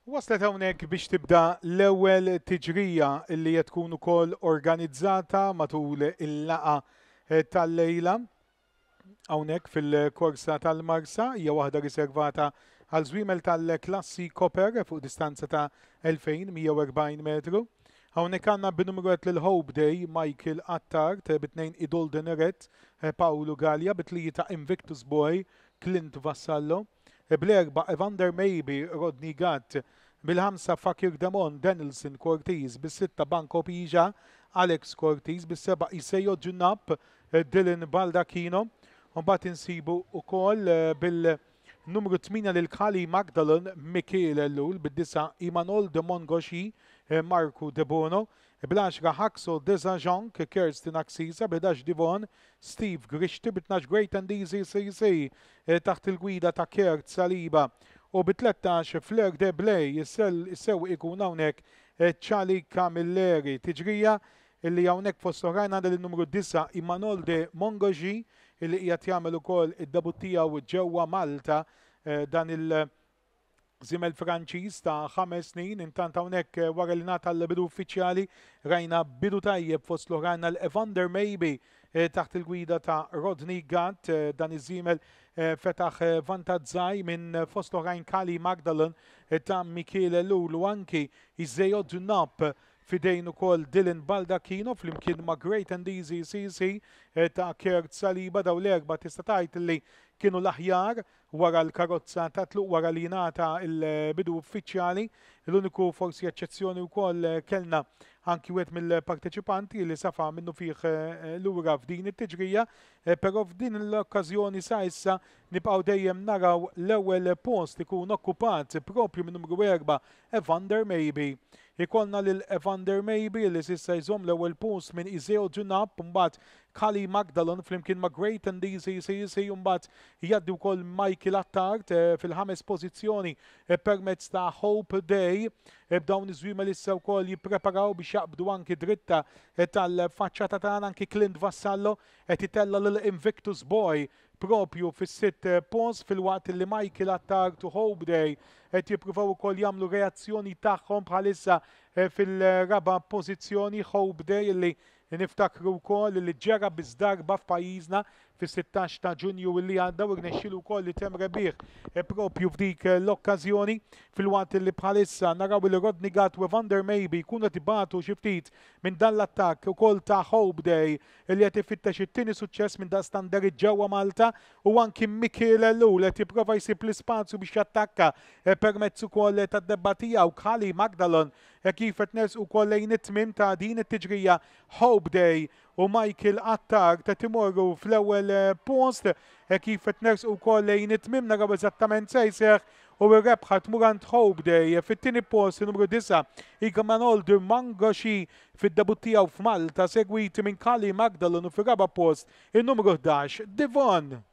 Waslet hawnhekk biex tibda l-ewwel tiġrija li qed tkun ukoll organizzata matul il-laqgħa eh, tal-lejla hawnhekk fil-korsa tal-Marsa hija waħda riservata għal żwiemel tal-klassi Copper fuq distanza ta' 2140 metru. Hawnhekk għandna bin-numru 1 lil Hope Day Michael Attard, bit-tnejn Idol Deneret eh, Paolo Gallia, bit-tlieta Invictus Boy Clint Vassallo. Bl-erba' Evander Maybe, Rodney Gatt, bil-ħamsa Fakir Demon, Denilson Cortis, bis-sitta Banco Pija, Alex Cortis, bis-seba' Iseo Ġunnap, Dylan Baldacchino. Mbagħad insibu wkoll eh, bil-numru 8 lil Kali Magdalon Mikiel Ellul, bid-disa Imanol de Mongoshi, eh, Marku Debono, bl-10 Haxo Desajonk, Kirsten Axisa, b-11 Divon, Steve Grixti bi 12 Great and Easy CC taħt il-gwida ta' Kurt Saliba u bi 13 Fleur de Blé is-sewwieq ikun hawnhekk Charlie Camilleri. Tiġrija illi hawnhekk fost oħrajn għandha lin-numru 9 Imanol de Mongogy illi qiegħed jagħmel ukoll id-debut tiegħu ġewwa Malta dan il- Żiemel Franċiż ta' 5 snin, intant hawnhekk eh, wara li ngħata l-bidu uffiċjali rajna bidu tajjeb fost l-oħrajn għal Evander Maybe eh, taħt il-gwida ta' Rodney Gatt eh, dan iż-żiemel fetaħ vantaġġ minn fost l-oħrajn Kali Magdalen ta' Michele Lulu anki Iseo Dunap fidejn ukoll Dylan Baldacchino flimkien ma' Great and Easy CC ta' Kurt Saliba daw l-erba' tista' tgħid li kienu l-aħjar wara l-karozza ta' tluq wara li ngħata l-bidu uffiċjali. L-uniku forsi eċċezzjoni wkoll kellna anki wieħed mill-parteċipanti li safa minnu fih eh, lura f'din it-tiġrija, eh, però f'din l-okkażjoni sa issa nibqgħu dejjem naraw l-ewwel post ikun okkupat propju minn numru 4 Evander Maybe. Ikollna lil Evander Maybe li s'issa jżomm l-ewwel post minn Iseo Dunap mbagħad Kali Magdalon flimkien ma' Great and Easy CC mbagħad jgħaddi wkoll Michael Attard eh, fil-ħames pożizzjoni eh, permezz ta' Hope Day eh, b'dawn iż-żwiemel issa wkoll jippreparaw biex jaqbdu anki dritta tal-faċċata tagħna anki Clint Vassallo qed itella' lil Invictus Boy propju fis-sitt post filwaqt li Michael Attard u Hope Day qed jippruvaw ukoll jagħmlu reazzjoni tagħhom bħalissa eh, fil-raba' pożizzjoni Hope Day li niftakru wkoll li ġera biss darba f'pajjiżna fis-16 ta' Ġunju li għadda u rnexxielu wkoll li temm rebbieħ eh, propju f'dik l-okkażjoni filwaqt li bħalissa naraw li Rodney Gatt u Evander Maybe jkunu qed ibatu xi ftit minn dan l-attakk ukoll ta' Hope Day li qed ifittex it-tieni suċċess minn daqstant derit ġewwa Malta u anki Mikiel Ellul qed jipprova jsib l-ispazju biex jattakka eh, permezz ukoll tad-debba tiegħu Kali Magdalon eh, kif qed nersqu wkoll lejn it-tmiem ta' din it-tiġrija Hope Day u Michael Attard qed imorru fl-ewwel eh, post kif qed nersqu wkoll lejn it-tmiem naraw eżattament se jseħħ u r-rebħa tmur għand Hope Day fit-tieni post numru 9 Igmanol Mangoshi fid-debutt tiegħu f'Malta segwiti minn Kali Magdalon u fir-raba' post in-numru 11 Divon.